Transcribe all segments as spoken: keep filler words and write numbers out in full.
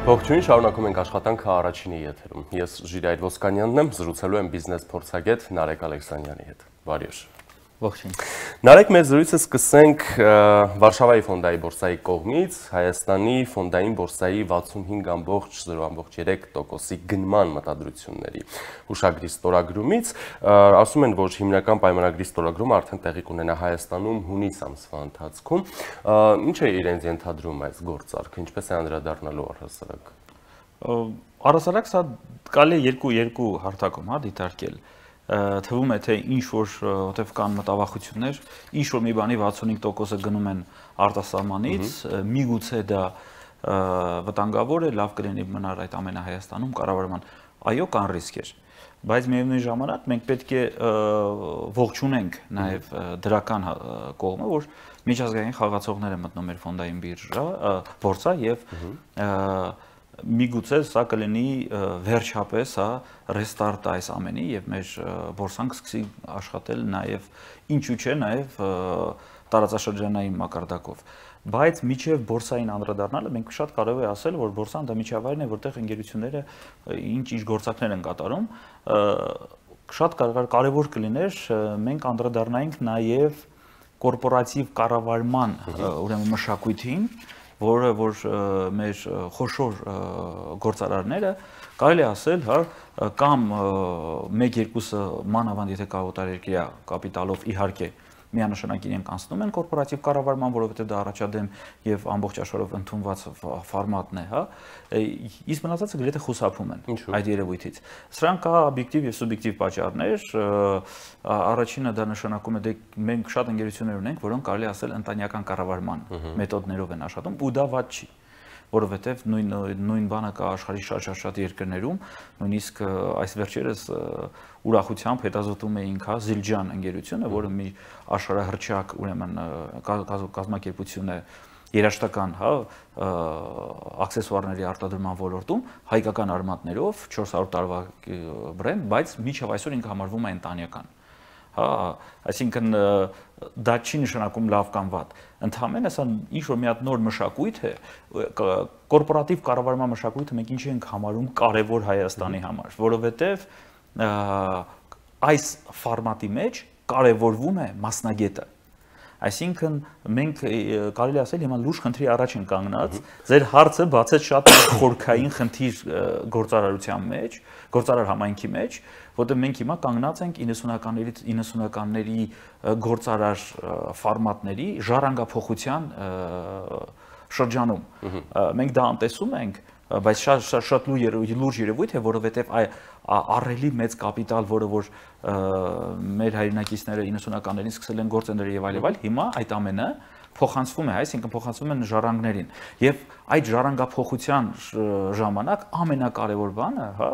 Ողջույն, շարունակում ենք աշխատանքը առաջինի եթերում։ Ես Ժիրայր Ոսկանյանն եմ, զրուցելու եմ բիզնես փորձագետ Նարեկ Ալեքսանյանի հետ։ Բարի օր։ Ողջույն։ Նարեկ, մեր զրույցը սկսենք Վարշավայի ֆոնդային բորսայի կողմից, Հայաստանի ֆոնդային բորսայի վաթսունհինգ ամբողջ զրո երեք տոկոսի գնման մտադրությունների հուշագրի ստորագրումից, ասում են, որ հիմնական պայմանագրի ստորագրումը արդեն տեղի կունենա Հայաստանում հունիս ամսվա ընթացքում։ Ինչ է իրենց ենթադրում այս գործարքը, ինչպես է անդրադառնալու առհասարակ։ Առհասարակ սա կարելի է երկու երկու հարթակում, հա, դիտարկել։ Թվում է, թե ինչ որ որտեվ կան մտավախություններ, ինչ որ մի բանի վաթսունհինգ տոկոսը գնում են արտասահմանից, միգուցե դա վտանգավոր է, լավ կլինի մնար այդ ամենը Հայաստանում կառավարման։ Այո, կան ռիսկեր, բայց միևնույն ժամանակ մենք պետք է ողջունենք նաև դրական կողմը, որ միջազգային խաղացողներ են մտնում մեր ֆոնդային բիրժա, բորսա եւ միգուցե սա կլինի վերջապես հա ռեստարտը այս ամենի եւ մեր բորսան կսկսի աշխատել նաեւ ինչու՞ չէ նաեւ տարածաշրջանային մակարդակով, բայց միջև բորսային անդրադառնալը մենք շատ կարեւոր է ասել, որ բորսան դա միջավայրն է, որտեղ ընկերությունները ինչ-ինչ գործակներ են կատարում, շատ կարեւոր կլիներ մենք անդրադառնայինք նաեւ կորպորատիվ կառավարման ուրեմն մշակույթին, որը որ մեր խոշոր գործարարները կարելի է ասել, հա, կամ մեկ-երկուսը մանավանդ եթե կաղոտարերկրյա կապիտալով իհարկե միանշանակ իրենք անցնում են կորպորատիվ կառավարման, որովհետև դա առաջադեմ եւ ամբողջ աշխարհով ընդունված ֆորմատն է, հա, իսկ մնացածը գրեթե խուսափում են այդ երևույթից։ Սրանք կա օբյեկտիվ եւ սուբյեկտիվ պատճառներ, առաջինը դա նշանակում է դե մենք շատ ընկերություններ ունենք, որոնք կարելի ասել ընտանեկան կառավարման մեթոդներով են աշխատում ու դա վատ չի, որովհետև նույն նույն բանը կա աշխարհի շատ-շատ երկրներում, նույնիսկ այս վերջերս ուրախությամբ հետազոտում էինք հա Զիլջան ընկերությունը, որը մի աշխարհահռչակ ուրեմն կազմակերպություն է երաշտական հա աքսեսուարների արտադրման ոլորտում հայկական արմատներով չորս հարյուր տարվա բրենդ, բայց մինչև այսօր ինքը համարվում է ընտանեկան։ Հա, այսինքն դա չի նշանակում լավ կամ վատ։ Ընդհանրապես սա ինչ որ մի հատ նոր մշակույթ է, կորպորատիվ կառավարման մշակույթը մենք ինչ ենք համարում կարևոր Հայաստանի համար, որովհետև այս ֆորմատի մեջ կարևորվում է մասնագետը։ Այսինքն մենք կարելի ասել հիմա լուրջ խնդրի առաջ են կանգնած, ձեր հարցը բացեց շատ խորքային խնդիր գործարարության մեջ, գործարար համայնքի մեջ, որտեղ մենք հիմա կանգնած ենք իննսունականներից իննսունականների գործարար ֆորմատների ժառանգափոխության շրջանում։ Մենք դա անտեսում ենք, բայց շատ շատ լուրջ երևույթ է, որովհետև ահռելի մեծ կապիտալ, որը որ մեր հայրենակիցները իննսունականներին սկսել են գործել եւ այլ եւ այլ, հիմա այդ ամենը փոխանցվում է, այսինքն փոխանցվում են ժառանգներին։ Եվ այդ ժառանգափոխության ժամանակ ամենակարևոր բանը, հա,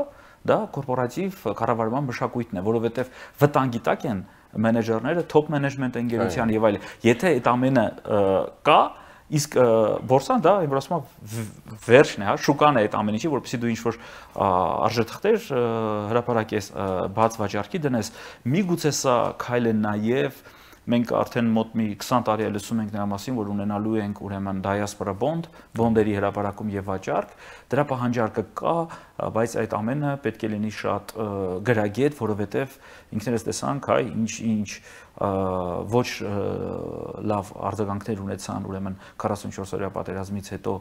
դա կորպորատիվ կառավարման մշակույթն է, որովհետև վտանգի տակ են մենեջերները, top management ընկերության եւ այլ։ Եթե այդ ամենը կա, իսկ բորսան դա իմ ասում վերջն է, հա, շուկան է այդ ամեն ինչի, որպեսզի դու ինչ-որ արժեթղթեր հրապարակես, բաց վաճառքի դնես, միգուցե սա քայլ է նաև մենք արդեն մոտ մի քսան տարի է լսում ենք նրա մասին, որ ունենալու ենք ուրեմն diaspora bond, բոնդերի հրապարակում եւ վաճառք, դրա պահանջարկը կա, բայց այդ ամենը պետք է լինի շատ գրագետ, որովհետեւ ինքներս տեսանք, հայ, ինչ-ինչ ոչ լավ արձագանքներ ունեցան ուրեմն քառասունչորս օրյա պատերազմից հետո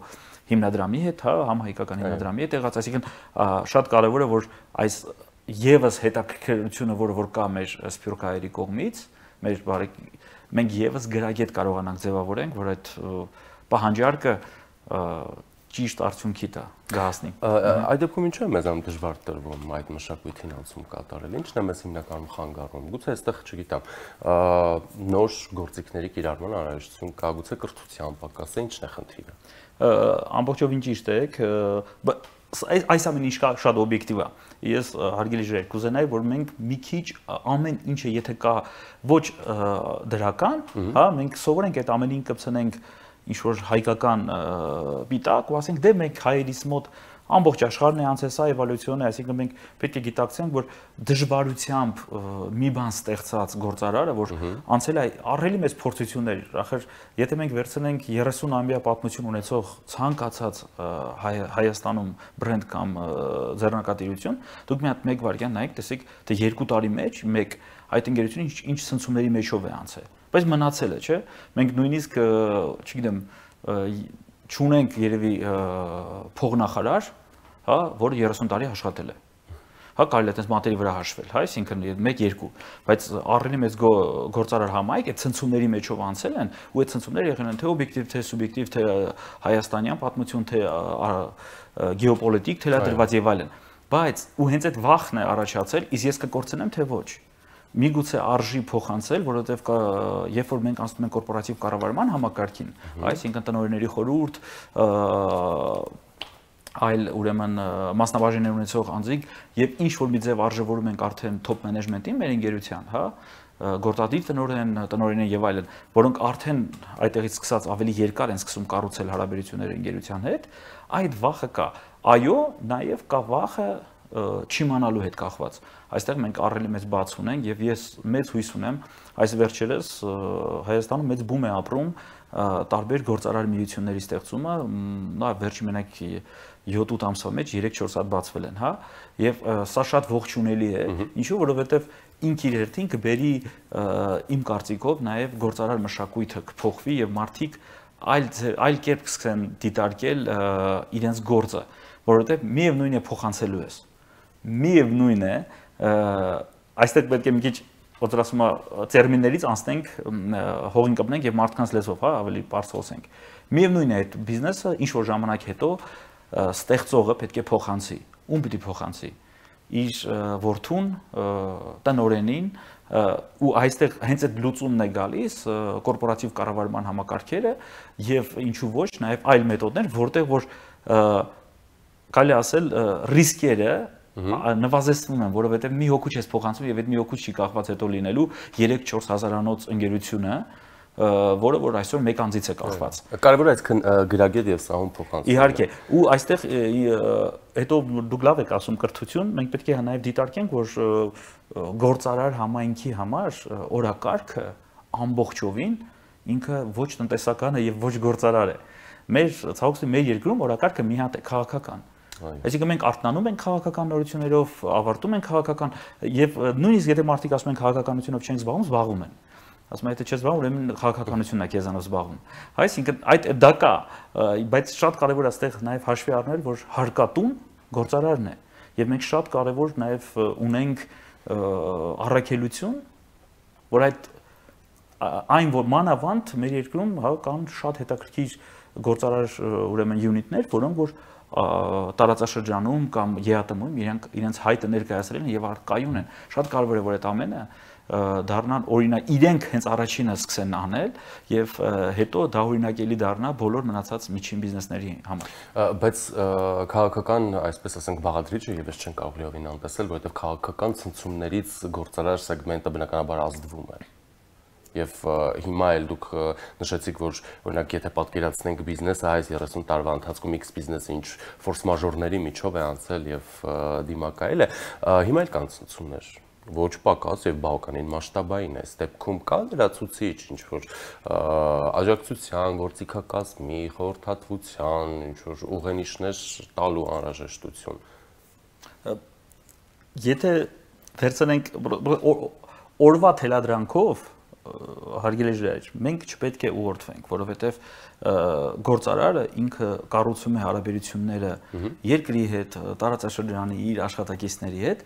հիմնադրամի հետ, հա, համահայկական հիմնադրամի հետ եղած, այսինքն շատ կարեւոր է, որ այս եւս հետաքրքրությունը, որը որ կա մեր սփյուռքահայերի կողմից, մեր բարեք մենք եւս գրագետ կարողանանք ձևավորենք, որ այդ պահանջարկը ճիշտ արդյունքի տա գահասնի։ Այդ դեպքում ինչու է մեզանում դժվար տրվում այդ մշակույթին անցում կատարել։ Ինչն է մեզ հիմնականում խանգարում։ Գուցե այստեղ, չգիտեմ, նոր գործիքների կիրառման անհրաժեշտություն կա, գուցե կրթության պակաս է, ինչն է խնդիրը։ Ամբողջովին ճիշտ եք, այս ամեն ինչ շատ օբյեկտիվ է։ Ես հարգելի ժիրայր կուզենայի, որ մենք մի քիչ ամեն ինչը եթե կա ոչ դրական, հա, մենք սովորենք այդ ամենին կպցնենք ինչ որ հայկական պիտակ ու ասենք դե մենք հայերիս մոտ ամբողջ աշխարհն է անցել սա էվոլյուցիոն է, այսինքն մենք պետք է գիտակցենք, որ դժվարությամբ մի բան ստեղծած գործարարը, որ անցել է ահռելի մեծ փորձություններ, ախր եթե մենք վերցնենք երեսուն-ամյա պատմություն ունեցող ցանկացած Հայաստանում բրենդ կամ ձեռնարկատիրություն, դուք մի հատ մեկ վայրկյան նայեք, տեսեք, թե երկու տարի մեջ մեկ այդ ընկերությունը ինչ ցնցումների մեջով է անցել, բայց մնացել է, չէ՞։ Մենք նույնիսկ, չգիտեմ, չունենք երևի փողնախարար, հա, որը երեսուն տարի աշխատել է։ Հա, կարելի է այդպես մատերի վրա հաշվել, հա, այսինքն մեկ երկու, բայց ահռելի մեծ գործարար համայնք այդ ցնցումների մեջով անցել են, ու այդ ցնցումները եղել են թե օբյեկտիվ, թե սուբյեկտիվ, թե հայաստանյան պատմություն, թե գեոպոլիտիկ, թելադրված եւ այլն։ Բայց ու հենց այդ վախն է առաջացել, իսկ ես կկործնեմ թե ոչ։ Միգուցե արժի փոխանցել, որովհետև երբ որ մենք անցնում ենք կորպորատիվ կառավարման համակարգին, այսինքն տնօրենների խորհուրդ, այլ ուրեմն մասնաբաժիններ ունեցող անձիկ եւ ինչ որ մի ձև արժևորում ենք արդեն top management-ին մեր ընկերության, հա, գործադիր տնօրեն, տնօրեններ եւ այլն, որոնք արդեն այդտեղից սկսած ավելի երկար են սկսում կառուցել հարաբերությունները ընկերության հետ, այդ վախը կա։ Այո, նաեւ կա վախը չիմանալու հետ կախված։ Այստեղ մենք ահռելի մեծ բաց ունենք եւ ես մեծ հույս ունեմ, այս վերջերս Հայաստանում մեծ բում է ապրում տարբեր գործարար միությունների ստեղծումը, նա վերջի մենակ յոթ-ութ ամսվա մեջ երեք-չորս հատ բացվել են, հա, եւ սա շատ ողջունելի է, ինչու որովհետեւ ինք իր հերթին կբերի իմ կարծիքով նաեւ գործարար մշակույթը կփոխվի եւ մարդիկ այլ այլ կերպ կսկսեն դիտարկել իրենց գործը, որովհետեւ միևնույն է փոխանցելու ես։ Միևնույն է, այստեղ պետք է մի քիչ ոնց ասում է տերմիններից անցնենք, հողին կպնենք եւ մարդկանց լեզվով, հա, ավելի բարձր խոսենք։ Միևնույն է այդ բիզնեսը ինչ որ ժամանակ հետո ստեղծողը պետք է փոխանցի։ Ում պիտի փոխանցի։ Իր որդուն, տնօրենին, ու այստեղ հենց այդ լուծումն է գալիս կորպորատիվ կառավարման համակարգերը եւ ինչու ոչ նաեւ այլ մեթոդներ, որտեղ որ կարելի ասել ռիսկերը նվազեցնում են, որովհետև մի հոգու չես փոխանցում եւ այդ մի հոգու չի կախված հետո լինելու երեք-չորս հազարանոց ընկերությունը, որը որ այսօր մեկ անձից է կախված։ Կարևոր է այսքան գրագետ եւ սահուն փոխանցումը։ Իհարկե, ու այստեղ հետո դուք լավ եք ասում կրթություն, մենք պետք է նաեւ դիտարկենք, որ գործարար համայնքի համար օրակարգը ամբողջովին ինքը ոչ տնտեսական է եւ ոչ գործարար է։ Մեր ցավոք մեր երկրում օրակարգը մի հատ է քաղաքական։ Այսինքն մենք արթնանում ենք քաղաքական նորություններով, ավարտում ենք քաղաքական եւ նույնիսկ եթե մարդիկ ասում են քաղաքականությունով չենք զբաղվում, զբաղվում են։ Ասում են եթե չես զբաղվում, ուրեմն քաղաքականությունն է քեզանով զբաղվում։ Այսինքն այդ դա կա, բայց շատ կարեւոր է այստեղ նաեւ հաշվի առնել, որ հարկատուն գործարարն է եւ մենք շատ կարեւոր նաեւ ունենք առաքելություն, որ այդ այն որ մանավանդ մեր երկրում հա կան շատ հետաքրքիր գործարար ուրեմն յունիտներ, որոնք որ տարածաշրջանում կամ ԵԱՏՄ-ում իրենք իրենց հայտը ներկայացրել են եւ արկայուն են։ Շատ կարեւոր է որ այդ ամենը դառնան օրինակ, իրենք հենց առաջինը սկսեն անել եւ հետո դա օրինակելի դառնա բոլոր մնացած միջին բիզնեսների համար։ Բայց քաղաքական, այսպես ասենք, բաղադրիչը եւս չեն կարող լիովին անտեսել, որովհետեւ քաղաքական ցնցումներից գործարար սեգմենտը բնականաբար ազդվում է։ Եվ հիմա էլ դուք նշեցիք, որ օրինակ եթե պատկերացնենք բիզնեսը այս երեսուն տարվա ընթացքում X բիզնեսը ինչ ֆորս մաժորների միջով է անցել եւ դիմակայել է, հիմա էլ կան ցնցումներ, ոչ պակաս եւ բավականին մասշտաբային է, դեպքում կա լրացուցիչ ինչ որ աջակցության, գործիքակազմի, խորհրդատվության, ինչ որ ուղենիշներ տալու անհրաժեշտություն։ Եթե վերցնենք օրվա թելադրանքով հարգելի ժիրայր, մենք չպետք է ուղղորդվենք, որովհետև գործարարը ինքը կառուցում է հարաբերությունները երկրի հետ, տարածաշրջանի իր աշխատակիցների հետ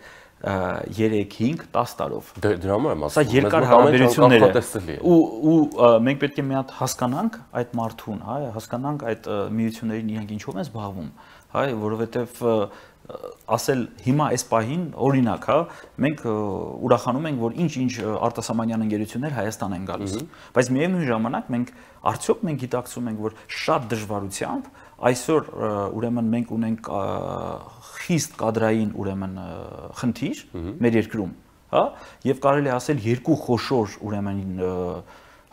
երեք, հինգ, տասը տարով։ Դրա համար եմ ասում, սա երկար հարաբերություններ է։ Ու ու մենք պետք է մի հատ հասկանանք այդ մարդուն, հա, հասկանանք այդ միություններին իրենք ինչով են զբաղվում, հա, որովհետև ասել հիմա այս պահին օրինակ, հա, մենք ուրախանում ենք, որ ինչ-ինչ արտասահմանյան ընկերություններ Հայաստան են գալիս, բայց միևնույն ժամանակ մենք արդյոք մենք գիտակցում ենք, որ շատ դժվարությամբ այսօր ուրեմն մենք ունենք խիստ կադրային ուրեմն խնդիր մեր երկրում, հա, եւ կարելի է ասել երկու խոշոր ուրեմն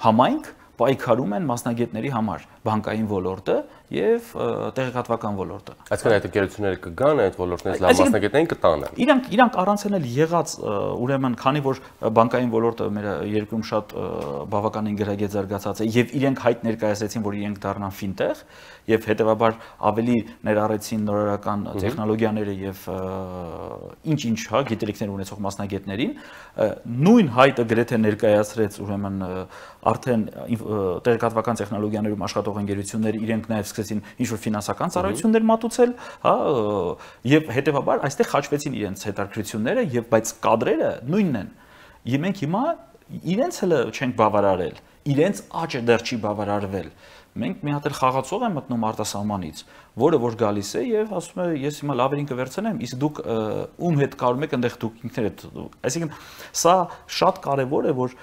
համայնք պայքարում են մասնագետների համար բանկային ոլորտը եւ տեղեկատվական ոլորտը։ Այսինքն այդ ընկերությունները կգան, այդ ոլորտներից լավ մասնագետներին կտանեն։ Իրանք իրանք առանց էլ եղած ուրեմն քանի որ բանկային ոլորտը մեր երկրում շատ բավականին գրագետ զարգացած է եւ իրենք հայտ ներկայացրեցին, որ իրենք դառնան ֆինտեխ եւ հետեւաբար ավելի ներառեցին նորարարական տեխնոլոգիաները եւ ինչ-ինչ հա գիտելիքներ ունեցող մասնագետներին, նույն հայտը գրեթե ներկայացրեց ուրեմն արդեն տեղեկատվական տեխնոլոգիաներում աշխատող ընկերությունները իրենք նաև սկսեցին ինչ-որ ֆինանսական ծառայություններ մատուցել, հա, եւ հետեւաբար այստեղ խաչվեցին իրենց հետաքրքրությունները եւ բայց կադրերը նույնն են։ Եվ մենք հիմա իրենց հələ չենք բավարարել, իրենց աճը դեռ չի բավարարվել։ Մենք մի հատ էլ խաղացող եմ մտնում արտասահմանից, որը որ գալիս է եւ ասում է ես հիմա լավերին կվերցնեմ, իսկ դուք ում հետ կարում եք այնտեղ դուք ինքներդ։ Այսինքն սա շատ կարեւոր է, որ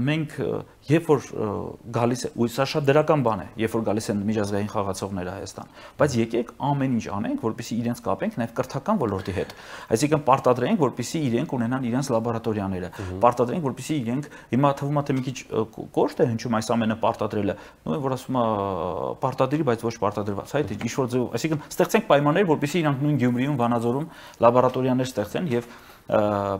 մենք երբ որ գալիս է, ու սա շատ դրական բան է, երբ որ գալիս են միջազգային խաղացողները Հայաստան, բայց եկեք ամեն ինչ անենք, որպեսզի իրենց կապենք նաեւ կրթական ոլորտի հետ։ Այսինքն պարտադրենք, որպեսզի իրենք ունենան իրենց լաբորատորիաները, պարտադրենք, որպեսզի իրենք հիմա թվում է թե մի քիչ կոշտ է հնչում այս ամենը պարտադրելը, նույն որ ասում է պարտադրի, բայց ոչ պարտադրված, այդ ինչ որ ձեւ, այսինքն ստեղծենք պայմաններ, որպեսզի իրանք նույն Գյումրիում, Վանաձորում լաբորատորիաներ ստեղծեն եւ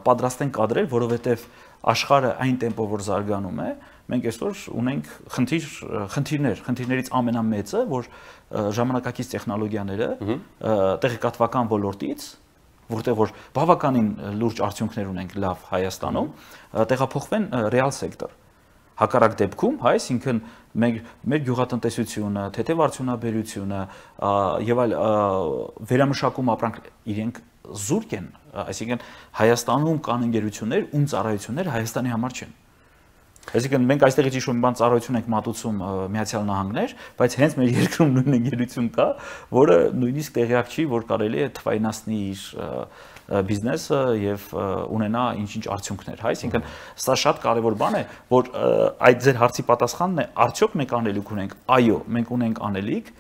պատրաստեն կադրեր, որովհետեւ աշխարհը այն տեմպով որ զարգանում է, մենք այսօր ունենք խնդիր խնդիրներ, խնդիրներից ամենամեծը, որ ժամանակակից տեխնոլոգիաները տեղեկատվական ոլորտից, որտեղ որ բավականին լուրջ արդյունքներ ունենք լավ Հայաստանում, տեղափոխվեն ռեալ սեկտոր։ Հակառակ դեպքում, հա, այսինքն մեր մեր գյուղատնտեսությունը, թեթև արդյունաբերությունը եւ այլ վերամշակում ապրանք իրենք զուրկ են, այսինքն Հայաստանում կան ընկերություններ, ում ծառայությունները Հայաստանի համար չեն։ Այսինքն մենք այստեղից ինչ-որ մի բան ծառայություն ենք մատուցում Միացյալ Նահանգներ, բայց հենց մեր երկրում նույն ընկերություն կա, որը նույնիսկ տեղյակ չի, որ կարելի է թվայնացնի իր բիզնեսը եւ ունենա ինչ-ինչ արդյունքներ, հա, այսինքն սա շատ կարեւոր բան է, որ այդ ձեր հարցի պատասխանն է, արդյոք մենք անելիք ունենք, այո, մենք ունենք անելիք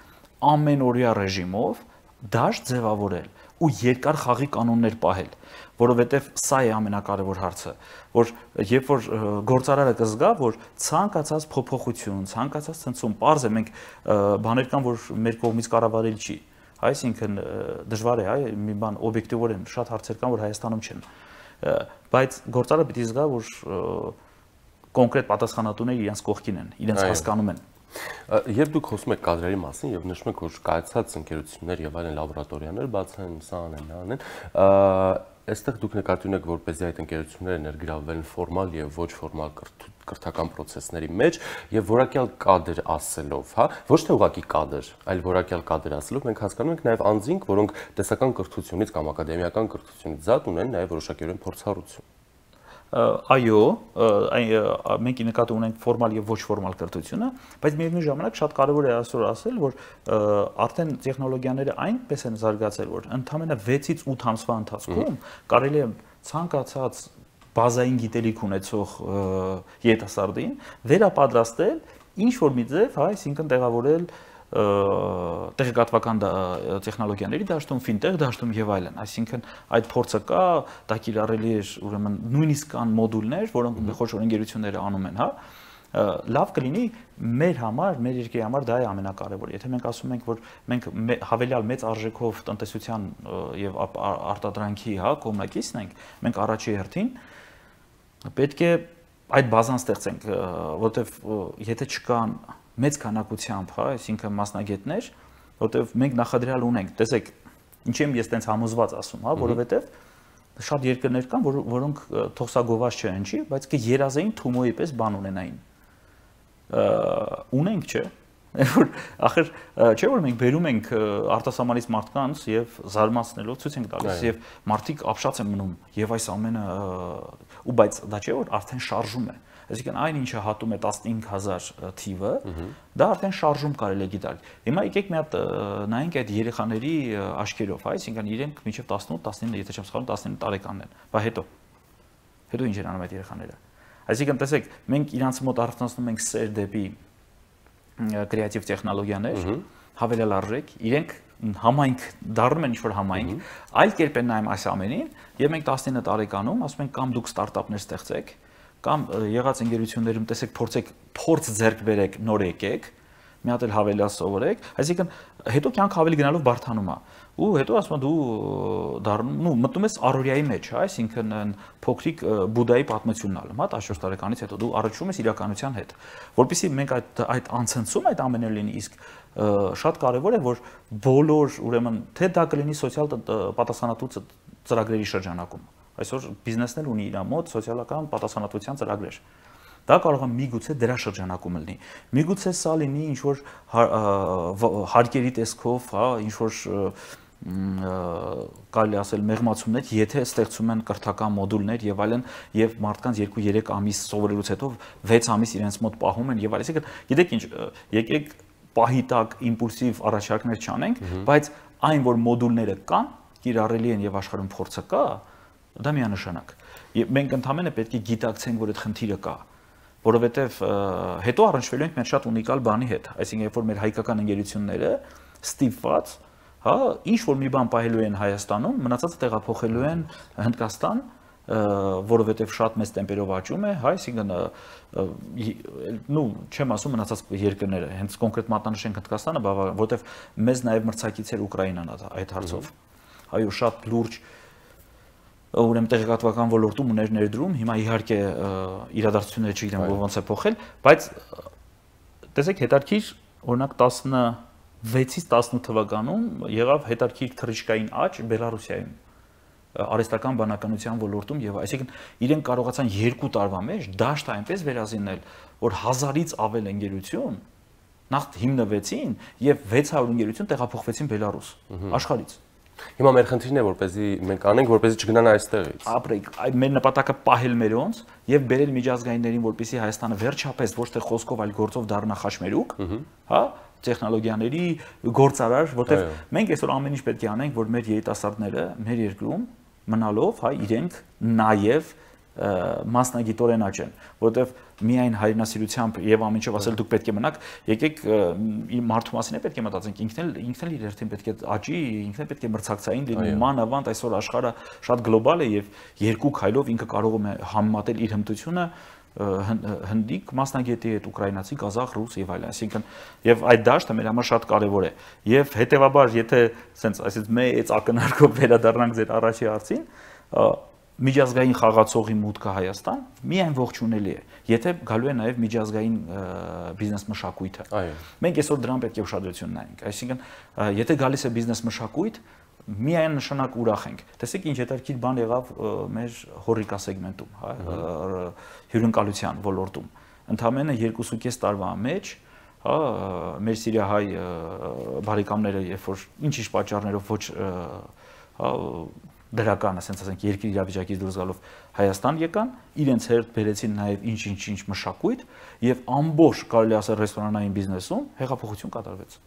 ամենօրյա ռեժիմով դաշտ ձևավորել ու երկար խաղի կանոններ պահել, որովհետև սա է ամենակարևոր հարցը, որ երբ որ գործարարը կզգա, որ ցանկացած փոփոխություն, ցանկացած ցնցում, պարզ է մենք բաներ կան, որ մեր կողմից կառավարել չի, այսինքն դժվար է, այ մի բան օբյեկտիվորեն շատ հարցեր կան, որ Հայաստանում չեն, բայց գործարարը պիտի զգա, որ կոնկրետ պատասխանատուները իրենց կողքին են, իրենց հասկանում են։ Երբ դուք խոսում եք կադրերի մասին եւ նշում եք, որ կայացած ընկերություններ եւ այլն լաբորատորիաներ բացեն, սա անեն, նա անեն, այստեղ դուք նկատի ունեք, որպեսզի այդ ընկերությունները ներգրավվեն ֆորմալ եւ ոչ ֆորմալ կրթական process-ների մեջ եւ որակյալ կադր ասելով, հա, ոչ թե ուղղակի կադր, այլ որակյալ կադր ասելով մենք հասկանում ենք նաեւ անձինք, որոնք տեսական կրթությունից կամ ակադեմիական կրթությունից զատ ունեն նաեւ որոշակիորեն փորձառություն։ Այո, մենք նկատի ունենք ֆորմալ եւ ոչ ֆորմալ կրթությունը, բայց միևնույն ժամանակ շատ կարեւոր է այսօր ասել, որ արդեն տեխնոլոգիաները այնպես են զարգացել, որ ընդամենը վեցից ութ ամսվա ընթացքում կարելի է ցանկացած բազային գիտելիք ունեցող երիտասարդին վերապատրաստել ինչ որ մի ձև, հա, այսինքն տեղավորել տեղեկատվական տեխնոլոգիաների դաշտում, ֆինտեխ դաշտում եւ այլն, այսինքն այդ փորձը կա, դա կիրառելի է, ուրեմն նույնիսկ կան մոդուլներ, որոնք խոշոր ընկերությունները անում են, հա, լավ կլինի մեր համար, մեր երկրի համար դա է ամենակարևորը։ Եթե մենք ասում ենք, որ մենք հավելյալ մեծ արժեքով տնտեսության եւ արտադրանքի, հա, կողմնակիցն ենք, մենք առաջի հերթին պետք է այդ բազան ստեղծենք, որովհետեւ եթե չկան մեծ քանակությամբ, հա, այսինքն մասնագետներ, որտեղ մենք նախադրյալ ունենք, տեսեք, ինչ եմ ես տենց համոզված ասում, հա, որովհետև շատ երկրներ կան, որ, որոնք թողսագոված չեն, չի, բայց կը երազային Թումոյի պես բան ունենային։ Ունենք, չէ, որ ախր չէ որ մենք բերում ենք արտասահմանից մարդկանց եւ զարմացնելով ցույց ենք տալիս եւ մարդիկ ապշած են մնում եւ այս ամենը ու բայց դա չէ որ արդեն շարժում է։ Այսինքն այն ինչը հատում է տասնհինգ հազար թիվը, դա արդեն շարժում կարելի է գիտալ։ Հիմա եկեք մի հատ նայենք այդ երեխաների աչքերով, հա, այսինքն իրենք մինչև տասնութ տասնինը, եթե չեմ սխալվում, տասնինը տարեկանն են, բա հետո։ Հետո ինչ են անում այդ երեխաները։ Այսինքն տեսեք, մենք իրանց մոտ արթնացնում ենք սեր դեպի կրեատիվ տեխնոլոգիաներ, հավելյալ արժեք, իրենք համայնք դառնում են ինչ-որ համայնք, այլ կերպ են նայում այս ամենին, եւ մենք տասնինը տարեկանում ասում ենք կամ դուք ստարտափներ ստեղծեք, կամ եղած ընկերություններում տեսեք փորձեք փորձ ձեռք բերեք, նոր եկեք, մի հատ էլ հավելյալ սովորեք, այսինքն հետո կյանքը ավելի գնալով բարթանում է։ Ու հետո ասում եմ դու դառնում, նու մտնում ես առօրյայի մեջ, հա, այսինքն փոքրիկ Բուդդայի պատմությունն ալում, հա, տասնչորս տարեկանից հետո դու առնչվում ես իրականության հետ, որովհետեւ մենք այդ այդ անցնցում այդ ամենը լինի, իսկ շատ կարևոր է որ բոլոր ուրեմն թե դա կլինի սոցիալ պատասխանատու ծրագրերի շրջանակում, այսօր բիզնեսն էլ ունի իր մոտ սոցիալական պատասխանատվության ծրագրեր, դա կարող է միգուցե դրա շրջանակում լինի, միգուցե սա լինի ինչ որ հարկերի տեսքով, հա, ինչ որ կարելի ասել մեղմացումներ, եթե ստեղծում են կրթական մոդուլներ եւ այլն եւ մարդկանց երկու երեք ամիս սովորելուց հետո վեց ամիս իրենց մոտ պահում են եւ այլն, այսինքն գիտեք ինչ, եկեք պահի տակ իմպուլսիվ առաջարկներ չանենք, բայց այն որ մոդուլները կան, կիրառելի են եւ աշխարհում փորձը կա, դա միանշանակ։ Եվ մենք ընդհանրապես պետք է գիտակցենք, որ այդ խնդիրը կա, որովհետեւ հետո առնչվելու ենք մեր շատ ունիկալ բանի հետ, այսինքն երբ որ մեր հայկական ընկերությունները ստիպված, հա, ինչ որ մի բան պահելու են Հայաստանում, մնացածը տեղափոխելու են Հնդկաստան, որովհետև շատ մեծ տեմպերով աճում է, հա, այսինքն նու չեմ ասում մնացած երկրները, հենց կոնկրետ մատնանշենք Հնդկաստանը, որովհետև մեզ նաև մրցակից էր Ուկրաինան այդ հարցով։ Այո, շատ լուրջ ուրեմն տեղեկատվական ոլորտում ուներ ներդրում, հիմա իհարկե իրադարձությունները չգիտեմ ոնց է փոխել, բայց տեսեք հետարքիր, օրինակ տասնվեցից տասնութ թվականում եղավ հետարքիր թռիչքային աճ Բելարուսիայում, արհեստական բանականության ոլորտում եւ այսինքն իրենք կարողացան երկու տարվա մեջ դաշտը այնպես վերազինել, որ հազարից ավել ընկերություն նախ հիմնվեցին եւ վեց հարյուր ընկերություն տեղափոխվեցին Բելարուս աշխարհից։ Հիմա մեր խնդիրն է, որպեսզի մենք անենք, որպեսզի չգնան այստեղից։ Ապրեք, այդ մեր նպատակը պահել մերոնց եւ բերել միջազգայիններին, որպեսզի Հայաստանը վերջապես ոչ թե խոսքով, այլ գործով դառնա խաչմերուկ, հա, տեխնոլոգիաների գործարար, որտեղ մենք այսօր ամեն ինչ պետք է անենք, որ մեր երիտասարդները մեր երկրում մնալով, հա, իրենք նաեւ մասնագիտորեն աճեն, որովհետև միայն հայրենասիրությամբ եւ ամեն ինչով ասել դուք պետք է մնաք, եկեք մարդու մասին է պետք է մտածենք, ինքն էլ ինքն էլ իր հերթին պետք է աճի, ինքն էլ պետք է մրցակցային լինի, մանավանդ այսօր աշխարհը շատ գլոբալ է եւ երկու քայլով ինքը կարող է համեմատել իր հմտությունը հնդիկ մասնագետի հետ, ուկրաինացի, կազախ, ռուս եւ այլն, այսինքն եւ այդ դաշտը մեր համար շատ կարեւոր է եւ հետեւաբար եթե ասենց այսպես մեծ ակնարկով վերադառնանք ձեր առաջի հարցին, միջազգային խաղացողի մուտքը Հայաստան միայն ողջունելի է, եթե գալու է նաև միջազգային բիզնես մշակույթը։ Մենք այսօր դրան պետք է ուշադրություն նայենք, այսինքն եթե գալիս է բիզնես մշակույթ, միայն նշանակ ուրախ ենք։ Տեսեք ինչ հետաքրքիր բան եղավ մեր հոռիկա սեգմենտում, հա, հյուրընկալության ոլորտում։ Ընդամենը երկու կես տարվա մեջ, հա, մեր սիրիահայ բարեկամները, երբ որ ինչ-ինչ պատճառներով ոչ, հա, դրական, ասենք ասենք երկրի իրավիճակից դուրս գալով Հայաստան եկան, իրենց հետ բերեցին նաև ինչ-ինչ-ինչ մշակույթ եւ ամբողջ կարելի ասել ռեստորանային բիզնեսում հեղափոխություն կատարվեց։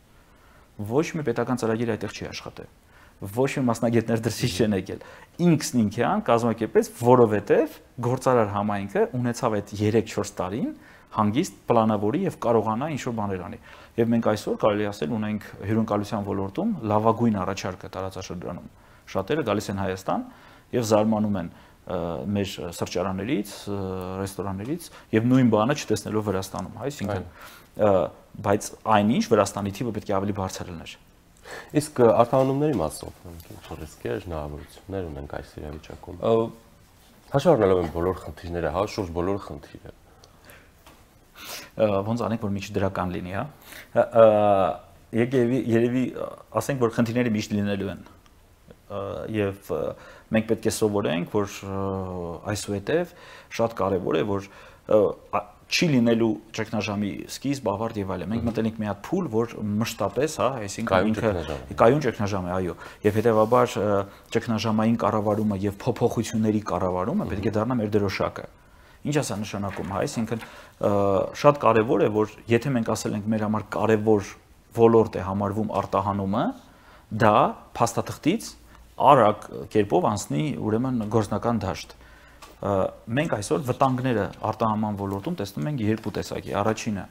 Ոչ մի պետական ծրագիր այդտեղ չի աշխատել։ Ոչ մի մասնագետներ դրսից չեն եկել։ Ինքսն ինքյան կազմակերպեց, որովհետեւ գործարար համայնքը ունեցավ այդ երեք-չորս տարին հանգիստ պլանավորի եւ կարողանա ինչ-որ բաներ անի։ Եվ մենք այսօր կարելի ասել ունենք հյուրընկալության ոլորտում լավագույն առաջարկը տարածաշրջանում։ Շատերը գալիս են Հայաստան եւ զարմանում են մեր սրճարաններից, ռեստորաններից եւ նույն բանը չտեսնելով Վրաստանում, այսինքն բայց այնինչ Վրաստանի թիվը պետք է ավելի բարձր լիներ։ Իսկ արտահանումների մասով ինչ ռիսկեր, հնարավորություններ ունենք այս իրավիճակում։ Հաշվի առնելով են բոլոր խնդիրները, հա, շուրջ բոլոր խնդիրը։ Ոնց անենք, որ միջ դրական լինի, հա։ Եկեք երևի ասենք, որ խնդիրները միշտ լինելու են։ Եվ մենք պետք է սովորենք, որ այսուհետև շատ կարևոր է, որ չի լինելու ճգնաժամի սկիզբ, ավարտ եւ այլն։ Մենք մտել ենք մի հատ փուլ, որ մշտապես, հա, այսինքն ինքը կայուն ճգնաժամ է, այո, եւ հետեւաբար ճգնաժամային կառավարումը եւ փոփոխությունների կառավարումը պետք է դառնա մեր դրոշակը։ Ինչ է սա նշանակում, հա, այսինքն շատ կարևոր է, որ եթե մենք ասել ենք մեր համար կարևոր ոլորտ է համարվում արտահանումը, դա փաստաթղթից արագ կերպով անցնի ուրեմն գործնական դաշտ։ Մենք այսօր վտանգները արտահանման ոլորտում տեսնում ենք երկու տեսակի։ Առաջինը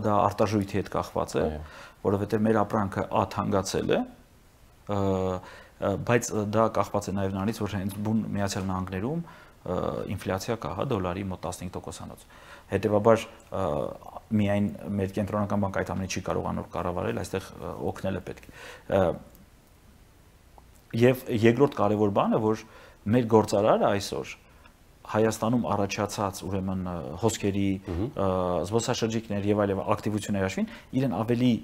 դա արտաժույթի հետ կախված է, որովհետև մեր ապրանքը աթանկացել է, բայց դա կախված է նաև նրանից, որ հենց բուն Միացյալ Նահանգներում ինֆլյացիա կա, հա, դոլարի մոտ տասնհինգ տոկոսանոց։ Հետևաբար միայն մեր կենտրոնական բանկը այդ ամենը չի կարողանում կառավարել, այստեղ օգնել է պետք։ Եվ երկրորդ կարևոր բանը, որ մեր գործարարը այսօր Հայաստանում առաջացած ուրեմն հոսքերի, զբոսաշրջիկներ եւ այլ ակտիվությունների հաշվին իրեն ավելի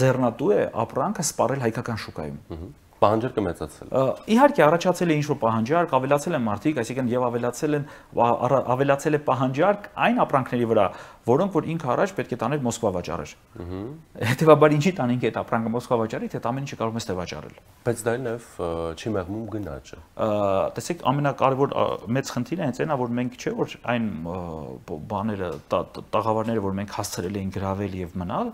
ձեռնատու է ապրանքը սպառել հայկական շուկայում։ Պահանջարկը մեծացել է։ Իհարկե առաջացել է ինչ-որ պահանջարկ, ավելացել են մարդիկ, այսինքն եւ ավելացել են ավելացել է պահանջարկ այն ապրանքների վրա, որոնք որ ինքը առաջ պետք է տաներ Մոսկվա վաճառեր։ Հետևաբար ինչի տանենք այդ ապրանքը Մոսկվա վաճառի, թե ամեն ինչը կարող ես թե վաճառել։ Բայց դա նաև չի մեղմում գնաճը։ Տեսեք, ամենակարևոր մեծ խնդիրը հենց այնա, որ մենք չէ որ այն բաները, տաղավարները, որ մենք հասցրել էինք գրավել եւ մնալ,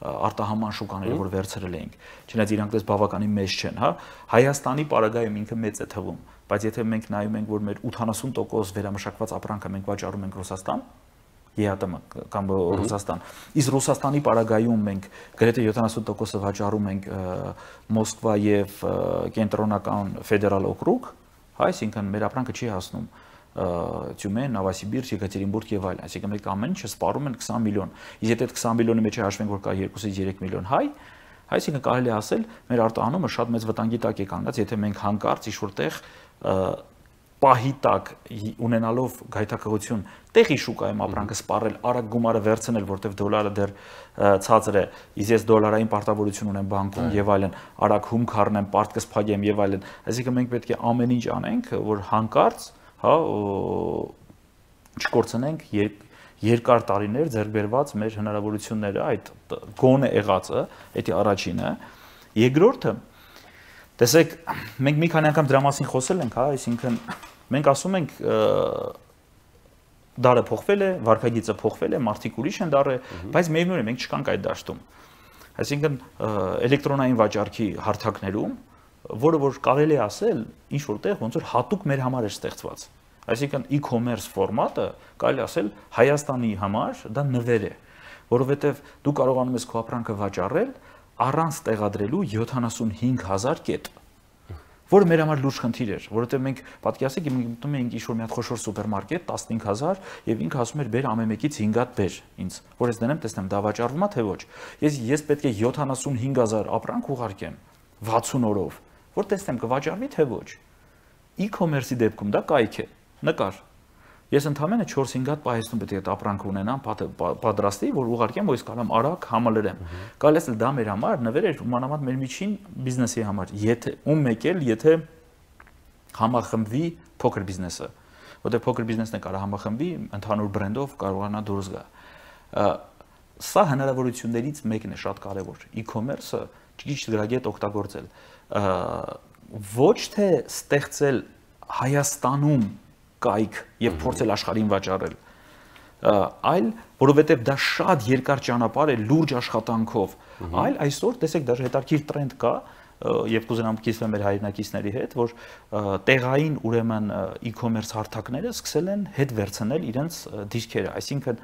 արտահանման շուկաները, որ վերցրել էինք, չնայած իրանք դες բավականին մեծ չեն, հա, Հայաստանի պարագայում ինքը մեծ է թվում, բայց եթե մենք նայում ենք, որ մեր ութանասուն տոկոս վերամշակված ապրանքը մենք վաճառում ենք Ռուսաստան, ԵԱՏՄ կամ Ռուսաստան, իսկ Ռուսաստանի պարագայում մենք գրեթե յոթանասուն տոկոսը վաճառում ենք Մոսկվա եւ կենտրոնական ֆեդերալ օկրուգ, հա, այսինքն մեր ապրանքը չի հասնում Թյումեն, Նովոսիբիրսկ, Եկատերինբուրգ եւ այլն, այսինքն մենք ամեն ինչը սպառում ենք քսան միլիոն։ Իսկ եթե այդ քսան միլիոնի մեջ հաշվենք, որ կա երկուսից երեք միլիոն հայ, այսինքն կարելի է ասել, մեր արտահանումը շատ մեծ վտանգի տակ է կանգնած, եթե մենք հանկարծ ինչ-որտեղ պահի տակ ունենալով գայթակղություն տեղի շուկայում ապրանքը սպառել, արագ գումարը վերցնել, որտեղ դոլարը դեռ ցածր է, իսկ ես դոլարային պարտավորություն ունեմ բանկում եւ այլն, արագ հումք առնեմ, պարտքս փակեմ եւ այլն։ Այսինքն մենք պետք է ամեն ինչ անենք, որ հանկարծ հա չկորցնենք երկար տարիներ ձեռք բերված մեր հնարավորությունները, այդ գոնե եղածը, դա առաջինը։ Երկրորդը, տեսեք, մենք մի քանի անգամ դրա մասին խոսել ենք, հա, այսինքն մենք ասում ենք դարը փոխվել է, վարքագիծը փոխվել է, մարդիկ ուրիշ են դարը, բայց միևնույն է, մենք չկանք այդ դաշտում։ Այսինքն էլեկտրոնային վաճառքի հարթակներում, որը որ կարելի է ասել, ինչ որտեղ ոնց որ հատուկ մեր համար է ստեղծված։ Այսինքն e-commerce ֆորմատը կարելի ասել Հայաստանի համար դա նվեր է, որովհետև դու կարողանում ես քո ապրանքը վաճառել առանց տեղադրելու յոթանասունհինգ հազար կետ, որը մեր համար լուրջ խնդիր էր, որովհետև մենք պատկերացրեք մտնում էինք ինչ-որ մի հատ խոշոր սուպերմարկետ տասնհինգ հազար եւ ինքը ասում էր բեր ամեն մեկից հինգ հատ բեր ինձ, որ ես դնեմ տեսնեմ դա վաճառվում է թե ոչ։ Ես ես պետք է յոթանասունհինգ հազար ապրանք ուղարկեմ վաթսուն օրով, որ տեսնեմ կվաճառվի թե ոչ։ E-commerce-ի դեպքում դա կայք է, նկար։ Ես ընդամենը չորս-հինգ հատ պահեստում պետք է այդ ապրանքը ունենամ, պատրաստի, որ ուղարկեմ, որ ես կարամ արագ համալրեմ։ Կարելի է դա մեր համար նվեր էր ումանավանդ մեր միջին բիզնեսի համար, եթե ում մեկ էլ եթե համախմբվի փոքր բիզնեսը, որտեղ փոքր բիզնեսն է կարող համախմբվի, ընդհանուր բրենդով կարողանա դուրս գա։ Սա հնարավորություններից մեկն է շատ կարևոր։ E-commerce-ը ճիշտ գրագետ օգտագործել, ոչ թե ստեղծել Հայաստանում կայք եւ փորձել աշխարհին վաճառել, այլ որովհետեւ դա շատ երկար ճանապարհ է լուրջ աշխատանքով, այլ այսօր տեսեք դա հետաքրքիր տրենդ կա եւ կուզենամ կիսվել մեր հայրենակիցների հետ, որ տեղային ուրեմն e-commerce հարթակները սկսել են հետ վերցնել իրենց դիրքերը, այսինքն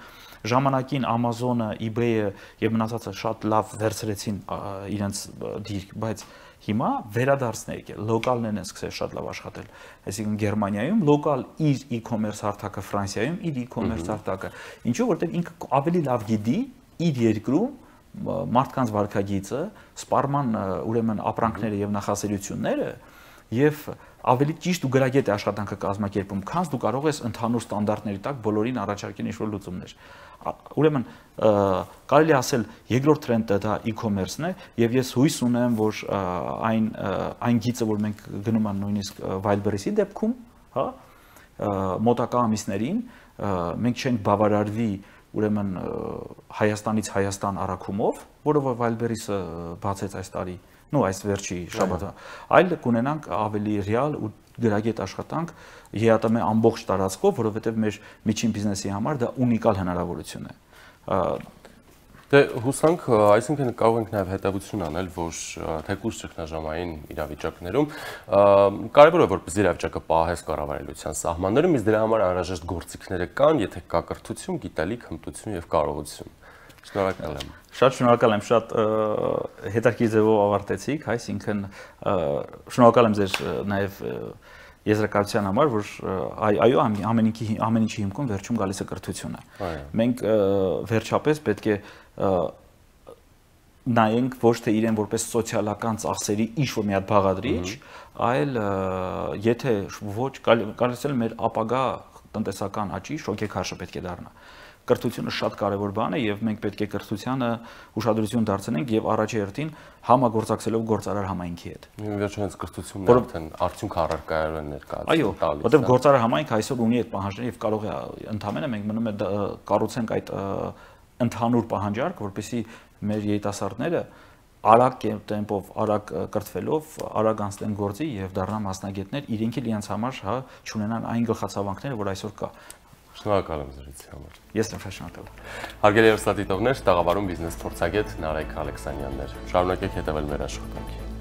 ժամանակին Amazon-ը, eBay-ը եւ մնացածը շատ լավ վերցրեցին իրենց դիրք, բայց հիմա վերադարձն է եկել, լոկալն են սկսել շատ լավ աշխատել, այսինքն Գերմանիայում լոկալ իր e-commerce հարթակը, Ֆրանսիայում իր e-commerce հարթակը, ինչու որտեղ ինքը ավելի լավ գիտի իր երկրում մարդկանց վարքագիծը, սպառման ուրեմն ապրանքները եւ նախասիրությունները եւ ավելի ճիշտ ու գրագետ է աշխատանքը կազմակերպում, քան դու կարող ես ընդհանուր ստանդարտների տակ բոլորին առաջարկել ինչ-որ լուծումներ։ Ուրեմն կարելի ասել երկրորդ տրենդը դա e-commerce-ն է եւ ես հույս ունեմ, որ այն այն գիծը, որ մենք գնում ենք նույնիսկ Wildberries-ի դեպքում, հա, մոտակա ամիսներին մենք չենք բավարարվի ուրեմն Հայաստանից Հայաստան առաքումով, որը որ Wildberries-ը բացեց այս տարի, նո այս վերջի շաբաթը, այլ կունենանք ավելի ռեալ ու գրագետ աշխատանք ԵԱՏՄ ամբողջ տարածքով, որովհետև մեր միջին բիզնեսի համար դա ունիկալ հնարավորություն է։ Դե հուսանք, այսինքն կարող ենք նաև հետևություն անել, որ թեկուզ ճգնաժամային իրավիճակներում կարևոր է որպես իրավիճակը պահես կառավարելիության սահմաններում, իսկ դրա համար անհրաժեշտ գործիքները կան, եթե կա կրթություն, գիտելիք, հմտություն եւ կարողություն։ Շնորհակալ եմ։ Շատ շնորհակալ եմ, շատ հետաքրքիր ձևով ավարտեցիք, այսինքն շնորհակալ եմ ձեր նաև եզրակացության համար, որ այո, ամեն ինչի ամեն ինչի հիմքում վերջում գալիս է կրթությունը։ Մենք վերջապես պետք է նայենք ոչ թե իրեն որպես սոցիալական ծախսերի ինչ-որ մի հատ բաղադրիչ, այլ եթե ոչ կարծես էլ մեր ապագա տնտեսական աճի շոկեքարշը պետք է դառնա։ Կրթությունը շատ կարևոր բան է եւ մենք պետք է կրթությանը ուշադրություն դարձնենք եւ առաջի հերթին համագործակցելով գործարար համայնքի հետ։ Վերջում հենց կրթությունն արդեն արդյունք առարկայով են ներկայացնում։ Այո, որտեղ գործարար համայնքը այսօր ունի այդ պահանջները եւ կարող է ընդհանրապես մենք մնում է կառուցենք այդ ընդհանուր պահանջարկ, որպեսզի մեր երիտասարդները արագ տեմպով, արագ կրթվելով, արագ անցնեն գործի եւ դառնան մասնագետներ, իրենք էլ իրենց համար հա չունենան այն գլխացավանքները, որ այսօր կա։ Շնորհակալ եմ զրույցի համար։ Ես եմ շնորհակալ։ Հարգելի հեռուստադիտողներ, տաղավարում բիզնես փորձագետ Նարեկ Ալեքսանյանն էր։ Շարունակեք հետևել մեր աշխատանքին։